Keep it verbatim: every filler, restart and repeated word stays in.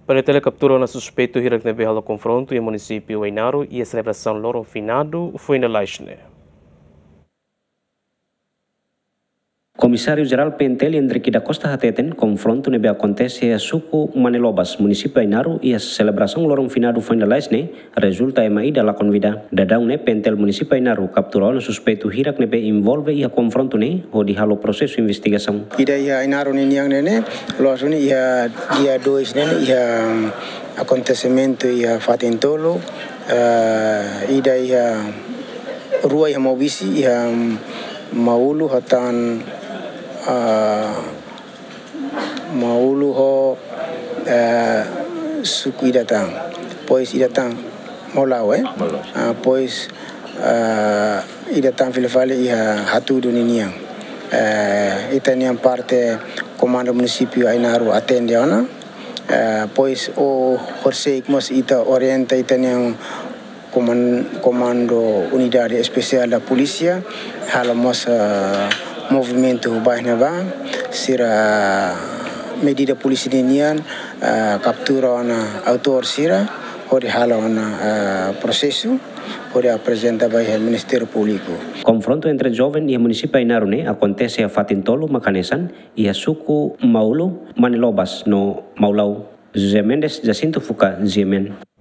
PNTL kaptura ona suspeitu hirak ne'ebé halo konfrontu iha munisípiu Ainaro iha selebrasaun loron finadu foin lalais ne'e. Komisáriu Jerál PNTL Endrique da Costa hateten, konfrontu ne'ebé akontese iha suku Manelobas, munisípiu Ainaro, iha selebrasaun loron finadu foin lalais ne'e, rezulta ema ida lakon vida. Daudaun ne'e PNTL munisípiu Ainaro kaptura ona suspeitu hirak ne'ebé envolve iha konfrontu ne'e, hodi halo prosesu investigasaun. Ida iha Ainaro ninian ne'e ne'e, loos duni iha dia dois ne'e ne'e, iha, mm, akontesimentu iha fatin tolu, eh, ida iha, rua iha Maubisse, iha, mm, Maulu ho tan, ah, Maulu ho, eh, suku ida tan. Depois ida tan Maulau, eh? Maulau. Ah, depois, ah, ida tan fila fali iha Hatudu ninian. Eh, ita-nian parte Komandu Munisípiu Ainaro atende ona. Eh, depois o horisehik mós ita orienta ita-nian koman-, Komandu Unidade Espesiál da Polísia, halo mós, ah, movimentu ba iha ne'ebá, sira medida polísia ninian, ah, kaptura ona autór sira, hodi halo ona, ah, prosesu, hodi aprezenta ba iha Ministériu Públiku. Konfrontu entre joven iha munisípiu Ainaro ne'e akontese iha fatin tolu mak hanesan, iha suku Maulu, Manelobas no Maulau. José Mendes, Jacinto Fuca, G M N.